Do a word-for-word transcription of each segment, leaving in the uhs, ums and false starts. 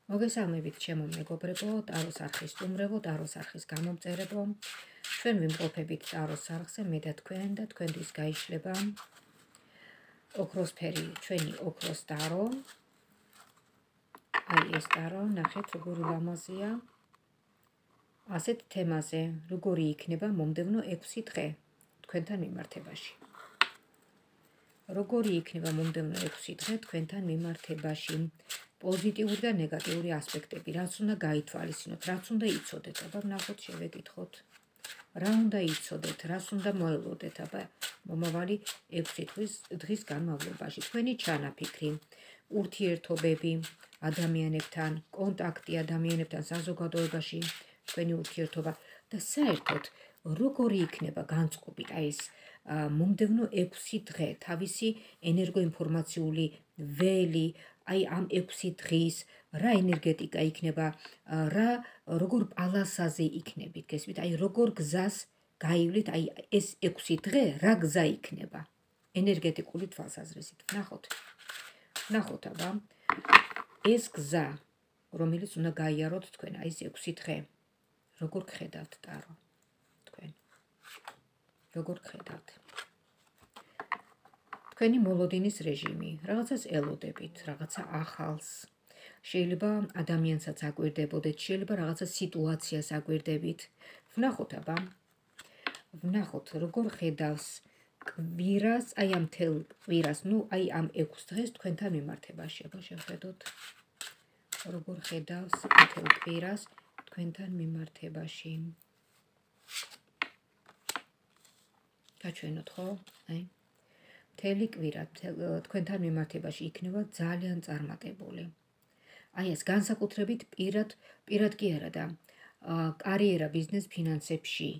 მოგესალმებით ჩემო მეგობრებო, ტაროს არხის სტუმრებო, ტაროს არხის გამომწერებო. ჩვენ ვიმყოფებით ტაროს არხზე, მე და თქვენ და თქვენთვის გაიშლება ოქროსფერი, ჩვენი ოქროს ტარო. აი ეს ტარო, ნახეთ როგორი ლამაზია. ასეთ თემაზე, როგორი იქნება მომდევნო ექვსი დღე თქვენთან მიმართებაში. როგორი იქნება მომდევნო ექვსი დღე თქვენთან მიმართებაში. პოზიტიური და ნეგატიური ასპექტები, რაც უნდა გაითვალისწინოთ, რაც უნდა იცოდეთ, აბა ნახოთ, შევეკითხოთ. რა უნდა იცოდეთ, რას უნდა მოელოდეთ, აბა მომავალი ექვსი დღის განმავლობაში. თქვენი ჩანაფიქრი, ურთიერთობები ადამიანებთან, კონტაქტი ადამიანებთან საზოგადოებაში, თქვენი ურთიერთობა და საერთოდ როგორი იქნება განწყობით აი ეს მომდევნო ექვსი დღე, თავისი ენერგოინფორმაციული ველი, აი ამ ექვსი დღის რა ენერგეტიკა იქნება, რა როგორ პალასაზე იქნებით, გესმით, აი როგორ გზას გაივლით, აი ეს ექვსი დღე რა გზა იქნება ენერგეტიკული თვალსაზრისით. ნახოთ. ნახოთ აბა ეს გზა, რომელიც უნდა გაიაროთ თქვენ, აი ეს ექვსი დღე, როგორ გხედავთ ტარო თქვენ? როგორ გხედავთ? თქვენი მოლოდინის რეჟიმი, რაღაცას ელოდებით, რაღაცა ახალს. შეიძლება ადამიანსაც აკვირდებოდეთ, შეიძლება რაღაცა სიტუაციას აკვირდებით. ვნახოთ აბა. ვნახოთ როგორ ხედავს კვირას, აი ამ თელ კვირას, ნუ აი ამ ექვს დღეს თქვენთან მიმართებაში. აბა შევხედოთ. როგორ ხედავს თელ კვირას თქვენთან მიმართებაში. გაჩვენოთ ხო? აი მთელი კვირა თქვენთან მიმართებაში იქნება ძალიან წარმატებული. აი ეს განსაკუთრებით პირად, პირად კი არა და კარიერა, ბიზნეს, ფინანსებში.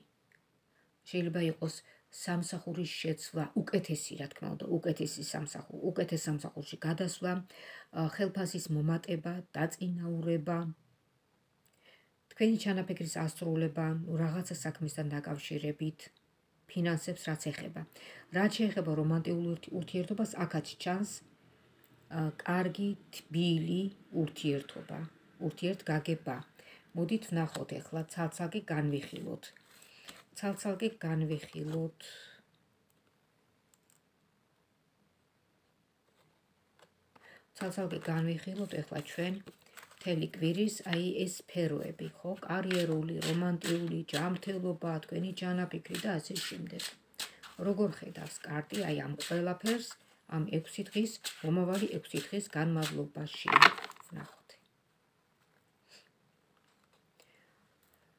შეიძლება იყოს სამსახურის შეცვლა, უკეთესი, რა თქმა უნდა, უკეთესი სამსახური, უკეთეს სამსახურში გადასვლა, ხელფასის მომატება, დაწინაურება, თქვენი ჩანაფიქრის ასრულება, რაღაცა საქმისთან დაკავშირებით. ფინანსებს რაც ეხება. რაც შეეხება რომანტიკულ ურთიერთობას, აქაც ჩანს კარგი, თბილი ურთიერთობა, ურთიერთგაგება. მოდით ვნახოთ ახლა, ცალ-ცალკე განვიხილოთ. ცალ-ცალკე განვიხილოთ. ცალ-ცალკე განვიხილოთ ახლა ჩვენ მთელი კვირის აი ეს სფეროები, ხო? კარიერული, რომანტიკული, ჯანმრთელობა, თქვენი ჩანაფიქრი და ასე შემდეგ. როგორ ხედავს კარტი აი ამ ყველაფერს ამ ექვსი დღის, მომავალი ექვსი დღის განმავლობაში. ვნახოთ.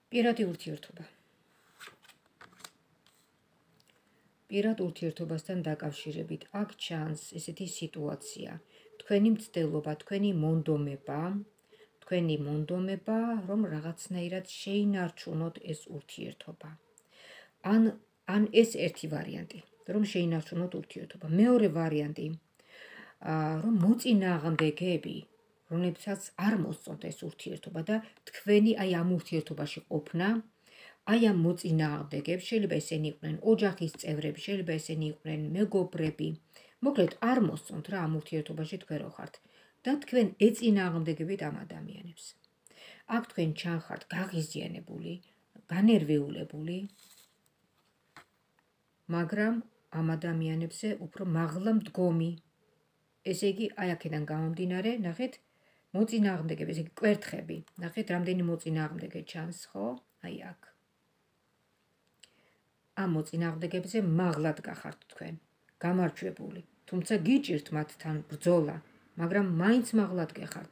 პირადი ურთიერთობა. პირად ურთიერთობასთან დაკავშირებით აქ ჩანს ესეთი სიტუაცია. თქვენი მცდელობა, თქვენი მონდომება, თქვენი მონდომება, რომ რაღაცნაირად შეინარჩუნოთ ეს ურთიერთობა. ან ან ეს ერთი ვარიანტი, რომ შეინარჩუნოთ ურთიერთობა. მეორე ვარიანტი, რომ მოწინააღმდეგეები, რომლებსაც არ მოსწონთ ეს ურთიერთობა და თქვენი აი ამ ურთიერთობაში ყოფნა, აი ამ მოწინააღმდეგეებს, შეიძლება ესენი იყვნენ ოჯახის წევრები, შეიძლება ესენი იყვნენ მეგობრები, მოკლედ არ მოსწონთ რა ამ ურთიერთობაში თქვენ რო ხართ და თქვენ ეწინააღმდეგებით ამ ადამიანებს. აქ თქვენ ჩანხართ გაღიზიანებული, განერვიულებული, მაგრამ ამ ადამიანებზე უფრო მაღლა მდგომი. ესე იგი, აი აქედან გამომდინარე, ნახეთ, მოწინააღმდეგეები, ესე იგი კვერთხები. ნახეთ, რამდენი მოწინააღმდეგე ჩანს, ხო? აი აქ. ამ მოწინააღმდეგეებზე მაღლად გახართ თქვენ, გამარჯვებული. თუმცა გიჭირთ მათთან ბრძოლა, მაგრამ მაინც მაღლად გეხართ.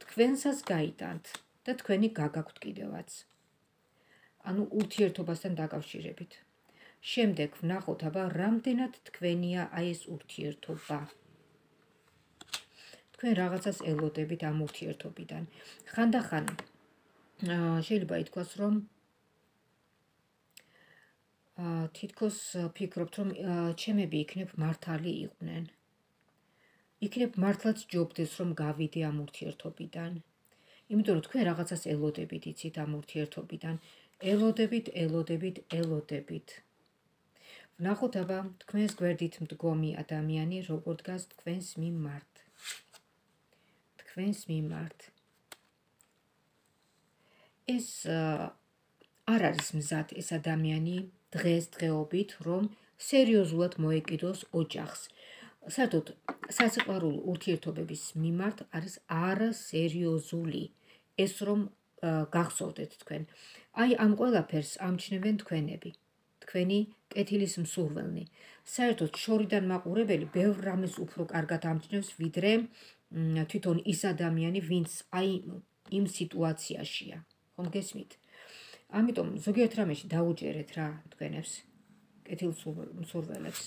თქვენსაც გაიტანთ და თქვენი გაგაქვთ კიდევაც. ანუ ურთიერთობასთან დაკავშირებით. შემდეგ ვნახოთ აბა რამდენად თქვენია აი ეს ურთიერთობა. თქვენ რაღაცას ელოდებით ამ ურთიერთობიდან. ხანდახან შეიძლება ითქვას, რომ თითქოს ფიქრობთ, რომ ჩემები იქნებ მართალი იყვნენ. იქნებ მართლაც ჯობდეს, რომ გავიდე ამ ურთიერთობიდან. იმიტომ რომ თქვენ რაღაცას ელოდებით, იცით ამ ურთიერთობიდან. ელოდებით, ელოდებით, ელოდებით. ვნახოთ აბა თქვენს გვერდით მდგომი ადამიანი როგორ დგას თქვენს მიმართ. თქვენს მიმართ. ეს არ არის მზად ეს ადამიანი დღეს დღეობით, რომ სერიოზულად მოეკიდოს ოჯახს. საერთოდ სასიყვარულო ურთიერთობების მიმართ არის არასერიოზული ეს რომ გახსოვდეთ თქვენ. აი ამ ყველაფერს ამჩნევენ თქვენები, თქვენი კეთილის მსურველნი. საერთოდ შორიდან მაყურებელი ბევრ რამეს უფრო კარგად ამჩნევს, ვიდრე თვითონ ის ადამიანი, ვინც აი იმ სიტუაციაშია. ხომ გესმით? ამიტომ ზოგიერთ რამეში დაუჯერეთ რა თქვენებს, კეთილ მსურველებს.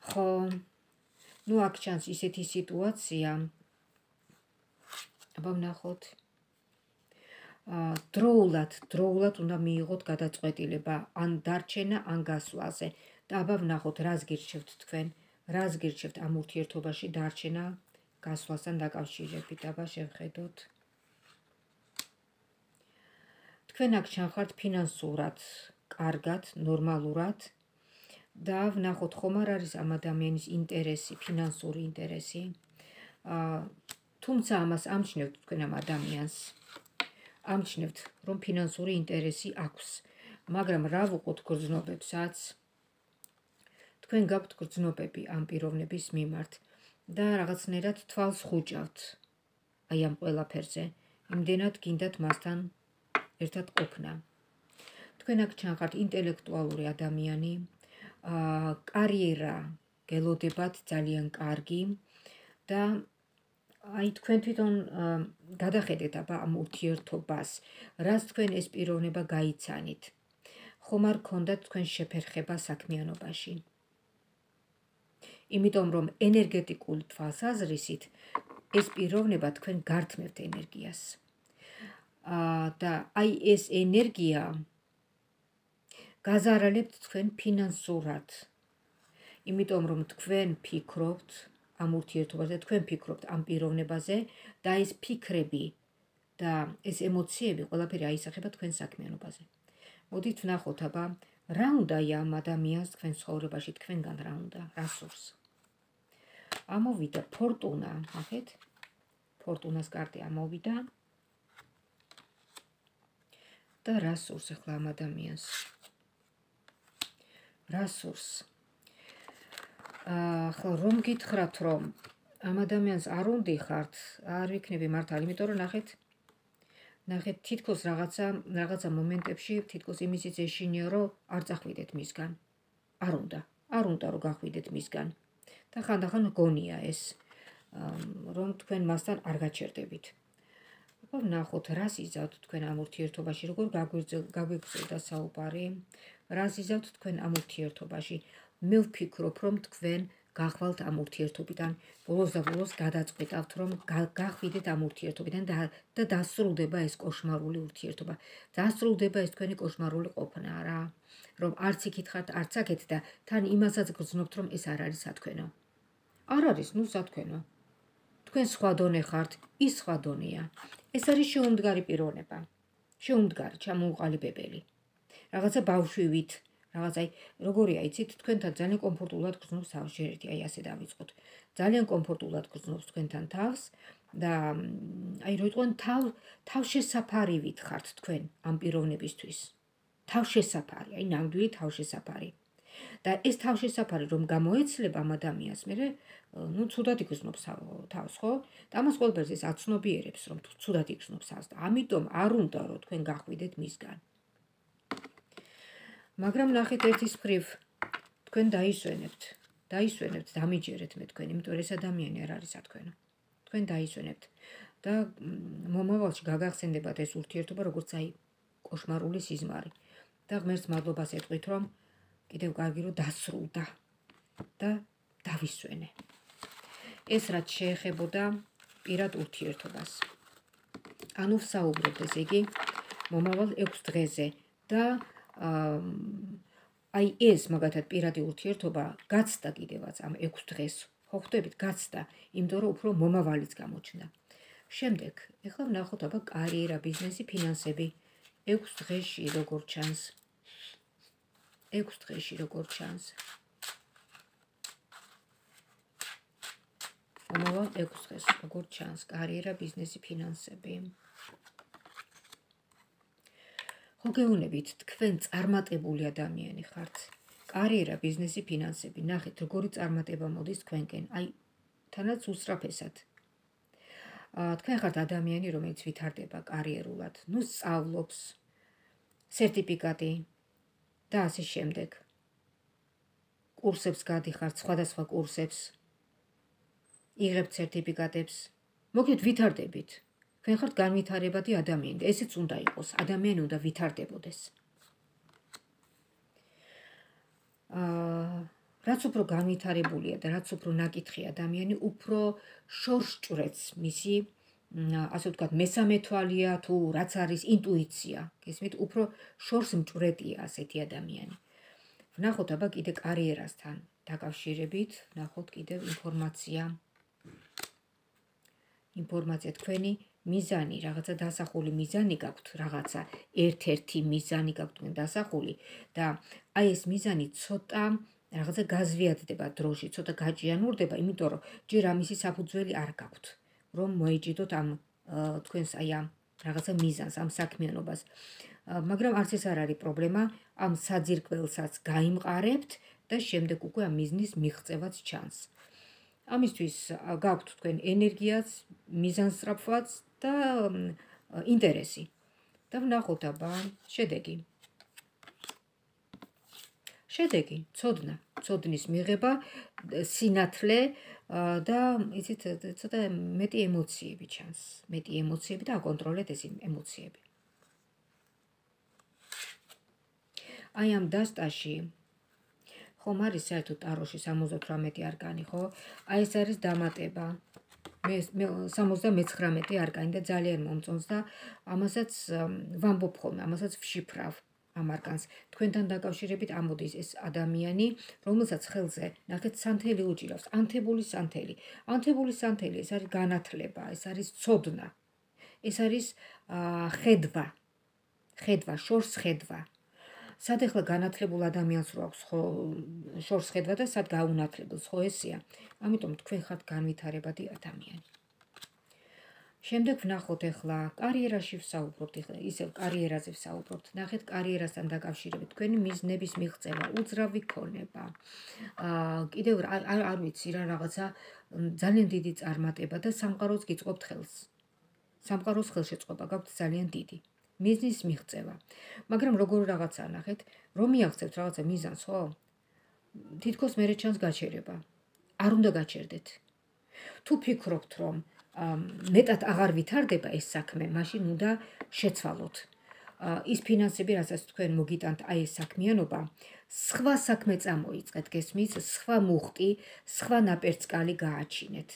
ხო, ნუ აქ ჩანს ისეთი სიტუაცია, აბა ვნახოთ. დროულად, დროულად უნდა მიიღოთ გადაწყვეტილება ან დარჩენა, ან გასვლაზე. და აბა ვნახოთ, რას გირჩევთ თქვენ, რას გირჩევთ ამ ურთიერთობაში დარჩენა, გასვლასთან დაკავშირებით. აბა შევხედოთ. თქვენ აქ ჩანხართ ფინანსურად, კარგად, ნორმალურად და ვნახოთ, ხომ არ არის ამ ადამიანის ინტერესი, ფინანსური ინტერესი. თუმცა ამას ამჩნევთ თქვენ ამ ადამიანს. ამჩნევთ, რომ ფინანსური ინტერესი აქვს, მაგრამ რა ვუყოთ გრძნობებსაც? თქვენ გაქვთ გრძნობები ამ პიროვნების მიმართ და რაღაცნაირად თვალს ხუჭავთ აი ამ ყველაფერზე. იმდენად გინდათ მასთან ერთად ყოფნა. თქვენ აქ ჩანხართ ინტელექტუალური ადამიანი, კარიერა გელოდებათ ძალიან კარგი და აი თქვენ თვითონ გადახედეთ აბა ამ ურთიერთობას, რას თქვენ ეს პიროვნება გაიცანით. ხომ არ გქონდათ თქვენ შეფერხება საქმიანობაში. იმიტომ რომ ენერგეტიკული თვალსაზრისით ეს პიროვნება თქვენ გართმევთ ენერგიას. და აი ეს ენერგია გაზარალებთ თქვენ ფინანსურად. იმიტომ რომ თქვენ ფიქრობთ ამ ურთიერთობაზე, თქვენ ფიქრობთ ამ პიროვნებაზე და ეს ფიქრები და ეს ემოციები ყველაფერი აისახება თქვენ საქმიანობაზე. მოდით ვნახოთ აბა, რა უნდა ამ ადამიანს თქვენ ცხოვრებაში, თქვენგან რა უნდა, რა სურს. ამოვიდა ფორტუნა, ნახეთ? ფორტუნას კარტი ამოვიდა. და რა სურს ახლა ამ ადამიანს? რა სურს? ახლა რომ გითხრათ, რომ ამ ადამიანს არ უნდიხართ, არ ვიქნები მართალი, იმიტომ რომ ნახეთ, ნახეთ, თითქოს რაღაცა, რაღაცა მომენტებში თითქოს იმისიც ეშინია, რომ არ წახვიდეთ მისგან. არ უნდა, არ უნდა რომ გახვიდეთ მისგან. და ხანდახან გონია ეს, რომ თქვენ მასთან არ გაჩერდებით. აბა ვნახოთ, რას იზავთ თქვენ ამ ურთიერთობაში, როგორ გაგვიგრძელდა საუბარი, რას იზავთ თქვენ ამ ურთიერთობაში. მე ვფიქრობ, რომ თქვენ გახვალთ ამ ურთიერთობიდან, ბოლოს და ბოლოს გადაწყვეტავთ, რომ გახვიდეთ ამ ურთიერთობიდან და დასრულდება ეს კოშმარული ურთიერთობა. დასრულდება ეს თქვენი კოშმარული ყოფნა რა, რომ არც იქით ხართ, არც აქეთ და თან იმასაც გრძნობთ, რომ ეს არ არის სათქვენო. არ არის, ნუ სათქვენო. თქვენ სხვა დონე ხართ, ის სხვა დონეა. ეს არის შეუმდგარი პიროვნება. შეუმდგარი, ჩამოუყალიბებელი. რაღაცა ბავშვივით, რაღაც აი, როგორია, იცით, თქვენთან ძალიან კომფორტულად გრძნობს თავს, შეერთი, აი ასე დავიწყოთ. ძალიან კომფორტულად გრძნობს თქვენთან თავს და აი რო იტყვენ თავ თავშესაფარივით ხართ თქვენ ამ პიროვნებისთვის. თავშესაფარი, აი ნამდვილი თავშესაფარი. და ეს თავშესაფარი რომ გამოეცლება ამ ადამიანს, მე ნუ ცუდად იგრძნობს თავს, ხო? და ამას ყველაფერს ეს აცნობიერებს, რომ ცუდად იგრძნობს თავს და ამიტომ არ უნდა რომ თქვენ გახვიდეთ მისგან. მაგრამ ნახეთ ერთის მხრივ თქვენ დაისვენებთ, დაისვენებთ, დამიჯერეთ მე თქვენ, იმიტომ რომ ეს ადამიანი არ არის სათქვენო. თქვენ დაისვენებთ და მომავალში გაგახსენდებათ ეს ურთიერთობა, როგორც აი კოშმარული სიზმარი. და ღმერთს მადლობას ეტყვით, რომ კიდევ კარგი რომ დასრულდა და დავისვენე. ეს რაც შეეხებოდა პირად ურთიერთობას. ანუ ვსაუბრობთ ესე იგი მომავალ ექვს დღეზე და აი ეს მაგათად პირადი ურთიერთობა გაცდა კიდევაც ამ ექვს დღეს. ხო ხვდებით, გაცდა, იმიტომ რომ უფრო მომავალიც გამოჩნდა. შემდეგ, ეხლა ვნახოთ აბა კარიერა, ბიზნესი, ფინანსები. ექვს დღეში როგორ ჩანს? ექვს დღეში როგორ ჩანს? მომავალ ექვს დღეს როგორ ჩანს? კარიერა, ბიზნესი, ფინანსები. ხო გეუბნებით, თქვენ წარმატებული ადამიანი ხართ. კარიერა, ბიზნესი, ფინანსები. ნახეთ, როგორი წარმატება მოდის თქვენკენ. აი, თანაც უსწრაფესად. თქვენ ხართ ადამიანი, რომელიც ვითარდება კარიერულად. ნუ სწავლობს, სერტიფიკატი და ასე შემდეგ. კურსებს გადიხართ, სხვადასხვა კურსებს. იღებთ სერტიფიკატებს. მოკლედ ვითარდებით. თქვენ ხართ განვითარებადი ადამიანი. ესეც უნდა იყოს. ადამიანი უნდა ვითარდებოდეს. აა რაც უფრო განვითარებულია და რაც უფრო ნაკითხი ადამიანი, უფრო შორს ჭრets მისი, ასე ვთქვათ, მესამე თვალია თუ რაც არის ინტუიცია. გესმით, უფრო შორს მჭრეტია ასეთი ადამიანი. ვნახოთ აბა კიდე კარიერასთან დაკავშირებით, ვნახოთ კიდე ინფორმაცია. ინფორმაცია თქვენი მიზანი, რაღაცა დასახული მიზანი გაქვთ, რაღაცა ერთ-ერთი მიზანი გაქვთ თქვენ დასახული და აი ეს მიზანი ცოტა რაღაცა გაზვიადდება დროში, ცოტა გაჭიანურდება, იმიტომ რომ ჯერ ამისი საფუძველი არ გაქვთ, რომ მოეჭიდოთ ამ თქვენს აი ამ რაღაცა მიზანს, ამ საქმიანობას. მაგრამ არც ეს არ არის პრობლემა, ამ საძირკველსაც გაიმყარებთ და შემდეგ უკვე ამ მიზნის მიღწევაც ჩანს. ამისთვის გაქვთ თქვენ ენერგიაც, მიზანსწრაფვაც და ინტერესი. და ვნახოთ აბა შედეგი. შედეგი, ცოდნა, ცოდნის მიღება, სინათლე და იცით, ცოტა მეტი ემოციები ჩანს. მეტი ემოციები და აკონტროლეთ ეს ემოციები. აი ამ დასტაში ხომ არის საერთოდ ტაროში სამოცდათვრამეტი არკანი, ხო? აი ეს არის დამატება. მე სამოცდამეცხრამეტი არკანი და ძალიან მომწონს და ამასაც ვამბობ ხოლმე, ამასაც ვშიფრავ ამ არკანს. თქვენთან დაკავშირებით ამოდის ეს ადამიანი, რომელსაც ხელზე ნახეთ სანთელი უჭირავს, ანთებული სანთელი. ანთებული სანთელი, ეს არის განათლება, ეს არის ცოდნა. ეს არის ხედვა. ხედვა, შორს ხედვა. სად ეხლა განათლებულ ადამიანს რო აქვს ხო შორს ხედვა და სად გაუნათლებელს, ხო ესეა. ამიტომ თქვენ ხართ განვითარებადი ადამიანი. შემდეგ ვნახოთ ეხლა კარიერაში ვსაუბრობთ, ეხლა ისევ კარიერაზე ვსაუბრობთ. ნახეთ კარიერასთან დაკავშირებით თქვენი მიზნების მიღწევა, უძრავი ქონება. აა კიდევ არ არ ვიცი რა რაღაცა ძალიან დიდი წარმატება და სამყაროს გიწყობთ ხელს. სამყაროს ხელშეწყობა გაქვთ ძალიან დიდი. მიზნის მიღწევა. მაგრამ როგორ რაღაცა ნახეთ, რომ მიაღწევთ რაღაცა მიზანს, ხო? თითქოს მერე ჩანს გაჩერება. არ უნდა გაჩერდეთ. თუ ფიქრობთ, რომ მეტად აღარ ვითარდება ეს საქმე, მაშინ უნდა შეცვალოთ. ის ფინანსები, რასაც თქვენ მოგიტანთ აი ეს საქმიანობა, სხვა საქმე წამოიწყეთ, გესმით, სხვა მუხტი, სხვა ნაპერწკალი გააჩინეთ.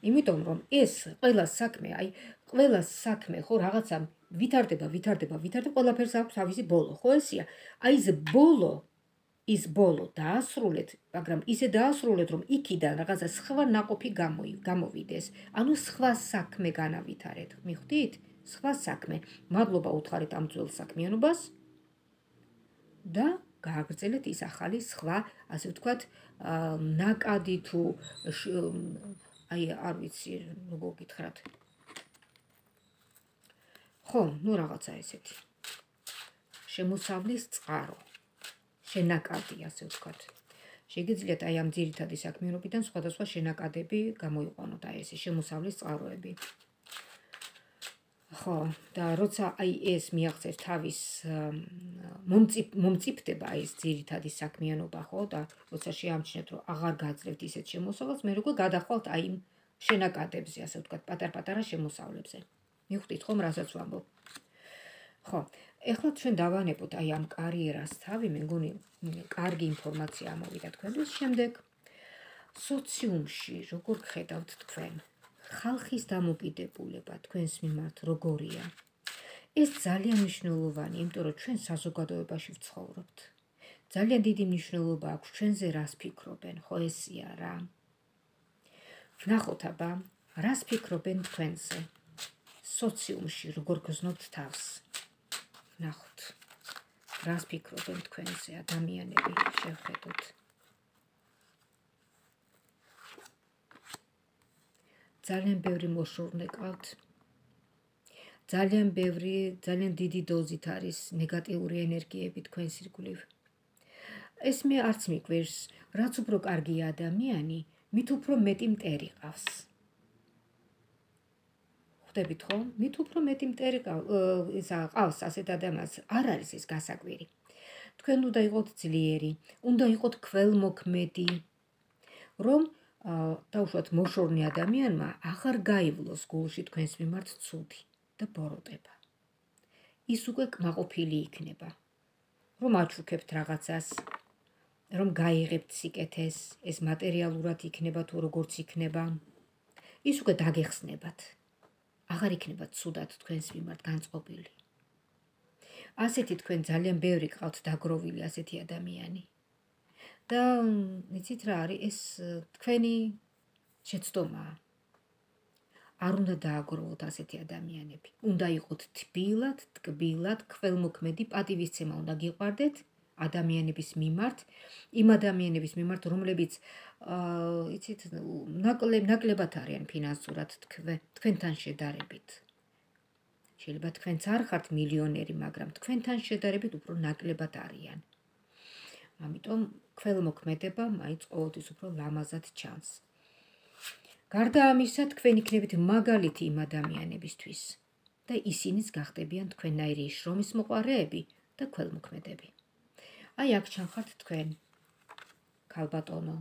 იმიტომ რომ ეს ყველა საქმე, აი ყველა საქმე ხო რაღაცა ვითარდება, ვითარდება, ვითარდება, ყველაფერს აქვს თავისი ბოლო, ხო ესეა? აი ეს ბოლო, ის ბოლო დაასრულეთ, მაგრამ ისე დაასრულეთ, რომ იქიდან რაღაცა სხვა ნაყოფი გამოვიდეს. ანუ სხვა საქმე განავითარეთ. მიხვდით? სხვა საქმე. მადლობა უთხარით ამ ძველ საქმიანობას და გააგრძელეთ ის ახალი სხვა, ასე ვთქვათ, ნაკადი თუ აი არ ვიცი როგორ გითხრათ. ხო, ნუ რაღაცა ესეთი. შემოსავლის წყარო. შენაკადი, ასე ვთქვათ. შეგიძლიათ აი ამ ძირითადი საქმიანობიდან სხვადასხვა შენაკადები გამოიყვანოთ, აი ესე შემოსავლის წყაროები. ხო, და როცა აი ეს მიაღწევთ თავის მომწიფდება ეს ძირითადი საქმიანობა, ხო, და როცა შეამჩნევთ, რომ აღარ გაძლევთ ისეთ შემოსავალს, მე როგორ გადახვალთ აი იმ შენაკადებზე, ასე ვთქვათ, პატარ-პატარა შემოსავლებზე. მიხვდით ხომ, რასაც ვამბობ? ხო, ეხლა ჩვენ დავანებოთ აი ამ კარიერას თავი, მე მგონი კარგი ინფორმაცია ამოვიდა თქვენთვის. შემდეგ სოციუმში როგორ გხედავთ თქვენ? ხალხის დამოკიდებულება თქვენს მიმართ როგორია? ეს ძალიან მნიშვნელოვანია, იმიტომ რომ ჩვენ საზოგადოებაში ვცხოვრობთ. ძალიან დიდი მნიშვნელობა აქვს ჩვენზე რას ფიქრობენ, ხო ესეა რა. ვნახოთ აბა, რას ფიქრობენ თქვენზე? სოციუმში როგორ გრძნობთ თავს? ვნახოთ. რას ფიქრობენ თქვენზე ადამიანები, შევხედოთ. ძალიან ბევრი მოშორნე ყავთ. ძალიან ბევრი, ძალიან დიდი დოზით არის ნეგატიური ენერგიები თქვენს ირგვლივ. ეს მე არც მიგვერს, რაც უფრო კარგია ადამიანი, მით უფრო მეტი მტერი ყავს. ხვდებით ხო? მით უფრო მეტი მტერი ყავს ასეთ ადამიანს, არ არის ეს გასაკვირი. თქვენ უნდა იყოთ ძლიერი, უნდა იყოთ ქველმოქმედი, რომ დაუშვათ მოშორნე ადამიანმა აღარ გაივლოს გულში თქვენს მიმართ ცუდი და ბოროტება. ის უკვე კმაყოფილი იქნება, რომ აჩუქებთ რაღაცას, რომ გაიღებთ სიკეთეს, ეს მატერიალურად იქნება თუ როგორც იქნება, ის უკვე დაგეხსნებათ. აღარ იქნებათ ცუდად თქვენს მიმართ განწყობილი. ასეთი თქვენ ძალიან ბევრი გყავთ დაგროვილი ასეთი ადამიანი. და იცით რა არის, ეს თქვენი შეცდომაა. არ უნდა დააგროვოთ ასეთი ადამიანები. უნდა იყოთ თბილად, ტკბილად, ქველმოქმედი, პატივისცემა უნდა გიყვარდეთ ადამიანების მიმართ, იმ ადამიანების მიმართ, რომლებიც იცით, ნაკლებად არიან ფინანსურად თქვენთან შედარებით. შეიძლება თქვენც არ ხართ მილიონერი, მაგრამ თქვენთან შედარებით უფრო ნაკლებად არიან. ამიტომ ქველმოქმედება მაინც ყოველთვის უფრო ლამაზად ჩანს. გარდა ამისა, თქვენ იქნებით მაგალითი იმ ადამიანებისთვის და ისინიც გახდებიან თქვენნაირი შრომის მოყვარეები და ქველმოქმედები. აი აქ ჩანხართ თქვენ, ქალბატონო.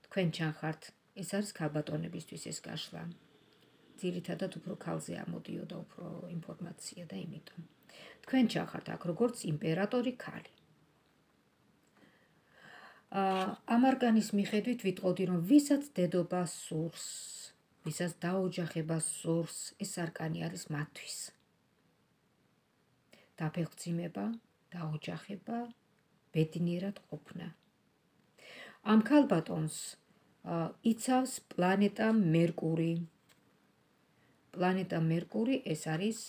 თქვენ ჩანხართ, ეს არის ქალბატონებისთვის ეს გაშლა. ძირითადად უფრო ქალზე ამოდიოდა უფრო ინფორმაცია და იმიტომ. თქვენ ჩანხართ აქ როგორც იმპერატორი ქალი. ამ არკანის მიხედვით ვიტყოდი, რომ ვისაც დედობა სურს, ვისაც დაოჯახება სურს, ეს არკანი არის მათთვის. დაფეხმძიმება, დაოჯახება, ბედნიერად ყოფნა. ამ ქალბატონს იცავს პლანეტა მერკური. პლანეტა მერკური ეს არის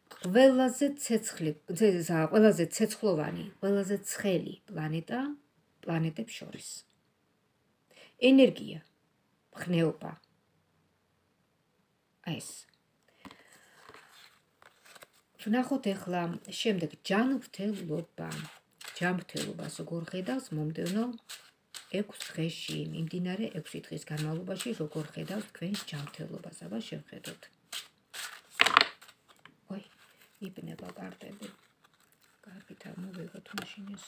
ყველაზე ცეცხლი, ყველაზე ცეცხლოვანი, ყველაზე ცხელი პლანეტა პლანეტებს შორის. ენერგია, ხნეობა. ეს. ვნახოთ ახლა შემდეგ ჯანმრთელობა. ჯანმრთელობას როგორ ხედავს მომდევნო ექვს დღეში, მიმდინარე ექვსი დღის განმავლობაში როგორ ხედავს თქვენს ჯანმრთელობას, აბა შევხედოთ. ой, იბნება კარტები. კარგით ამოვიღოთ მაშინ ეს.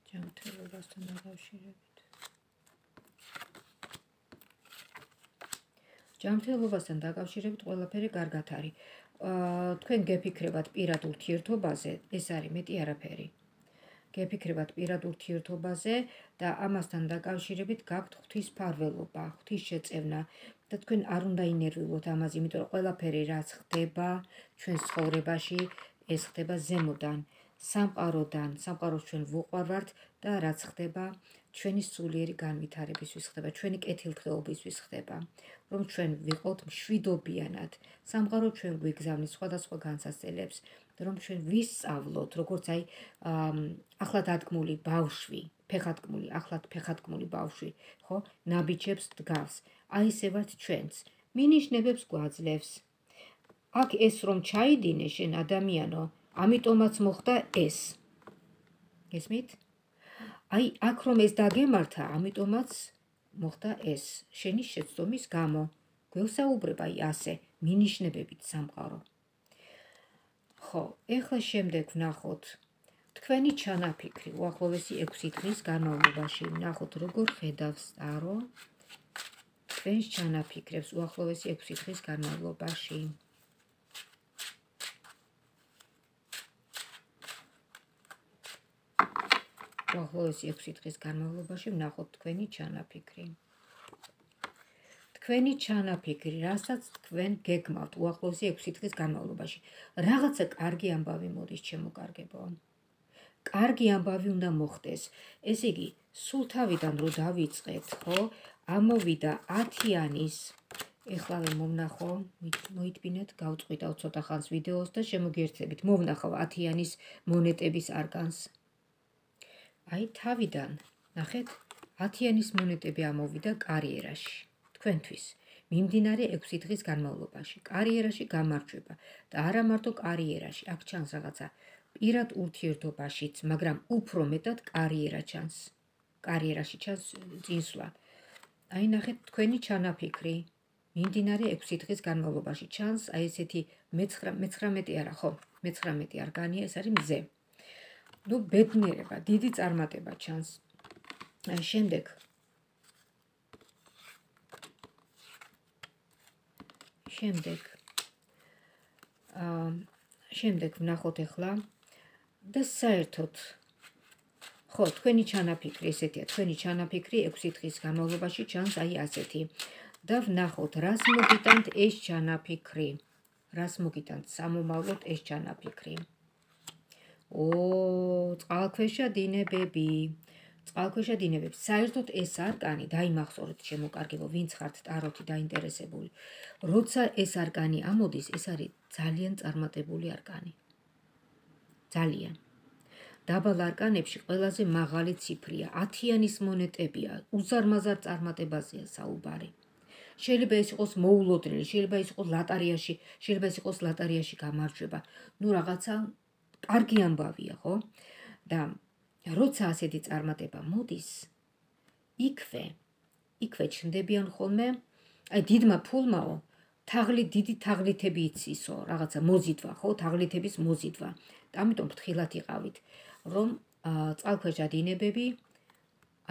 ჯანმრთელობასთან დაკავშირებით. ჯანმრთელობასთან დაკავშირებით ყველაფერი კარგად არის. თქვენ გეფიქრებათ პირად ურთიერთობაზე, ეს არის მეტი არაფერი. გეფიქრებათ პირად ურთიერთობაზე და ამასთან დაკავშირებით გაქვთ ღვთისმფარველობა, ღვთისშეწევნა და თქვენ არ უნდა ინერვიულოთ ამაზე, იმიტომ რომ ყველაფერი რაც ხდება ჩვენს ცხოვრებაში, ეს ხდება ზემოდან, სამყაროდან, სამყაროს ჩვენ ვუყვარვართ და რაც ხდება ჩვენი სულიერი განვითარებისთვის ხდება, ჩვენი კეთილდღეობისთვის ხდება, რომ ჩვენ ვიყოთ მშვიდობიანად, სამყარო ჩვენ გვიგზავნის სხვადასხვა განსასწელებს, რომ ჩვენ ვისწავლოთ, როგორც აი ახლად ადგმული ბავშვი, ფეხადკმული, ახლად ფეხადკმული ბავშვი, ხო, ნაბიჯებს დგავს. აი ესე ვართ ჩვენც, მინიშნებებს გვაძლევს. აქ ეს რომ ჩაიდინე შენ ადამიანო, ამიტომაც მოხდა ეს. გესმით? აი აქ რომ ეს დაგემართა, ამიტომაც მოხდა ეს. შენი შეცდომის გამო გვესაუბრება აი ასე, მინიშნებებით სამყარო. ხო, ეხლა შემდეგ ვნახოთ თქვენი ჩანაფიქრი უახლოესი ექვსი დღის განმავლობაში. ვნახოთ როგორ ხედავს ტარო თქვენს ჩანაფიქრებს უახლოესი ექვსი დღის განმავლობაში. უახლოესი ექვსი დღის განმავლობაში ვნახოთ თქვენი ჩანაფიქრი. თქვენი ჩანაფიქრი, რასაც თქვენ გეგმავთ უახლოესი ექვსი დღის განმავლობაში. რაღაცა კარგი ამბავი მოდის ჩემო კარგებო. კარგი ამბავი უნდა მოხდეს. ესე იგი, სულ თავიდან რო დავიწყეთ, ხო, ამოვიდა ათიანის. ეხლა მომნახო, მოიტბინეთ, გავწყვიტავ ცოტა ხანს ვიდეოს და შემოგიერთებით. მოვნახავ ათიანის მონეტების არკანს. აი თავიდან, ნახეთ, ათიანის მონეტები ამოვიდა კარიერაში. თქვენთვის. მიმდინარე ექვსი დღის განმავლობაში. კარიერაში გამარჯვება და არა მარტო კარიერაში, აქ ჩანს რაღაცა პირად ურთიერთობაშიც, მაგრამ უფრო მეტად კარიერა ჩანს. კარიერაში ჩანს წინსვლა. აი ნახეთ თქვენი ჩანაფიქრი. მიმდინარე ექვსი დღის განმავლობაში ჩანს აი ესეთი მეცხრამეტე არა, ხო, მეცხრამეტე არგანია, ეს არის მზე. ნუ ბედნიერება, დიდი წარმატება ჩანს. შემდეგ შემდეგ აა შემდეგ ვნახოთ ახლა და საერთოდ ხო, თქვენი ჩანაფიქრი ესეთია, თქვენი ჩანაფიქრი ექვსი დღის განმავლობაში ჩანს აი ასეთი. და ვნახოთ, რას მოგიტანთ ეს ჩანაფიქრი. რას მოგიტანთ სამომავლოდ ეს ჩანაფიქრი. ო, წყალქვეშა დინებები. წყალქვეშა დინებები. საერთოდ ეს არკანი, დაიმახსოვრეთ ჩემო კარგებო, ვინც ხართ ტაროთი დაინტერესებული. როცა ეს არკანი ამოდის, ეს არის ძალიან წარმატებული არკანი. ძალიან. დაბალ არკანებში ყველაზე მაღალი ციფრია, ათიანის მონეტებია, უზარმაზარ წარმატებაზეა საუბარი. შეიძლება ეს იყოს მოულოდნელი, შეიძლება ეს იყოს ლატარიაში, შეიძლება ეს იყოს ლატარიაში გამარჯვება. ნუ რაღაცა კარგი ამბავია, ხო? და როცა ასეთი წარმატება მოდის, იქვე, იქვე ჩნდებიან ხოლმე, აი დიდმა ფულმაო, თაღლი დიდი თაღლითები იცისო, რაღაცა მოზიდვა, ხო? თაღლითების მოზიდვა. და ამიტომ ფრთხილად იყავით, რომ წყალქვეშა დინებები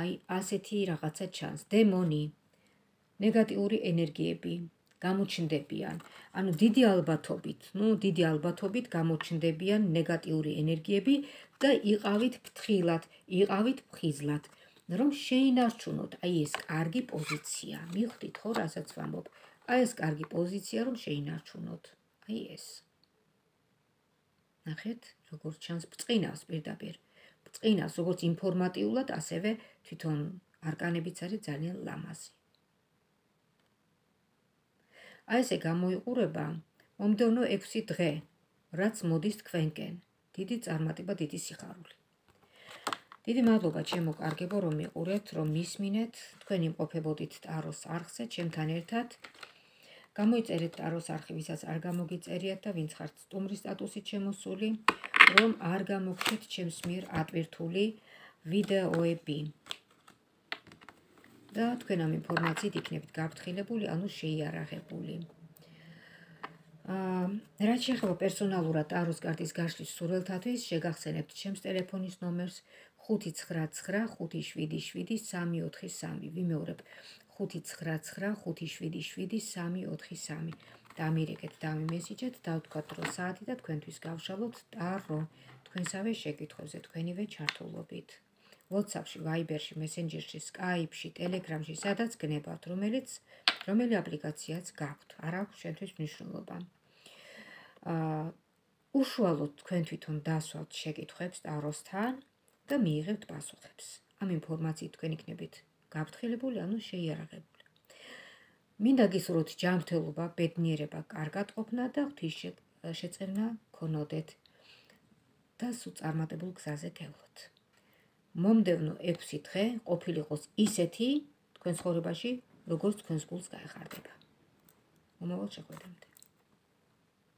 აი ასეთი რაღაცა ჩანს, დემონი, ნეგატიური ენერგიები გამოჩნდებიან. ანუ დიდი ალბათობით, ნუ დიდი ალბათობით გამოჩნდებიან ნეგატიური ენერგიები და იყავით ფრთხილად, იყავით ფხიზლად, რომ შეინარჩუნოთ აი ეს კარგი პოზიცია. მივხვდით ხო, რასაც ვამბობ? აი ეს კარგი პოზიცია, რომ შეინარჩუნოთ. აი ეს. ნახეთ, როგორც ჩანს ბრწყინავს პირდაპირ. ბრწყინავს როგორც ინფორმატიულად, ასევე თვითონ არკანებიც არის ძალიან ლამაზი. აი ესე გამოიყურება მომდევნო ექვსი დღე, რაც მოდის თქვენკენ. დიდი წარმატება, დიდი სიხარული. დიდი მადლობა ჩემო კარგებო, რომ მიყურებთ, რომ მისმინეთ, თქვენ იმყოფებოდით ტაროს არხზე, ჩემთან ერთად. გამოიწერეთ ტაროს არხი, ვისაც არ გამოგიწერიათ და ვინც ხართ სტუმრის სტატუსით შემოსული, რომ არ გამოგჩეთ ჩემს მიერ ატვირთული ვიდეოები. და თქვენ ამ ინფორმაციით იქნებით გაფრთხილებული, ანუ შეიარაღებული. რაც შეეხება პერსონალურად ტაროს კარტის გაშლის სურვილთათვის, შეგახსენებთ ჩემს ტელეფონის ნომერს ხუთი ცხრა ცხრა ხუთი შვიდი შვიდი სამი ოთხი სამი. ვიმეორებ ხუთი ცხრა ცხრა ხუთი შვიდი შვიდი სამი ოთხი სამი. დამირეკეთ, დამიმესიჯეთ, დავთქვათ დრო საათი და თქვენთვის გავშალოთ ტარო თქვენსავე შეკითხვებზე, თქვენივე ჩართულობით. WhatsApp-ში, Viber-ში, Messenger-ში, Skype-ში, Telegram-ში, სადაც გნებავთ, რომელიც რომელი აპლიკაციაც გაქვთ, არ აქვს შენთვის მნიშვნელობა. აა უშუალოდ თქვენ თვითონ დასვათ შეკითხვებს ტაროსთან და მიიღებთ პასუხებს. ამ ინფორმაციით თქვენ იქნებით გაფრთხილებული, ანუ შეიარაღებული. მინდა გისურვოთ ჯანმრთელობა, ბედნიერება, კარგად ყოფნა და ღვთისშეწევნა გქონოდეთ და სულ წარმატებულ გზაზე გევლოთ. მომდევნო ექვსი დღე ყოფილიყოს ისეთი თქვენ ცხოვრებაში, როგორც თქვენს გულს გაეხარდება. მომავალ შეხვედრამდე.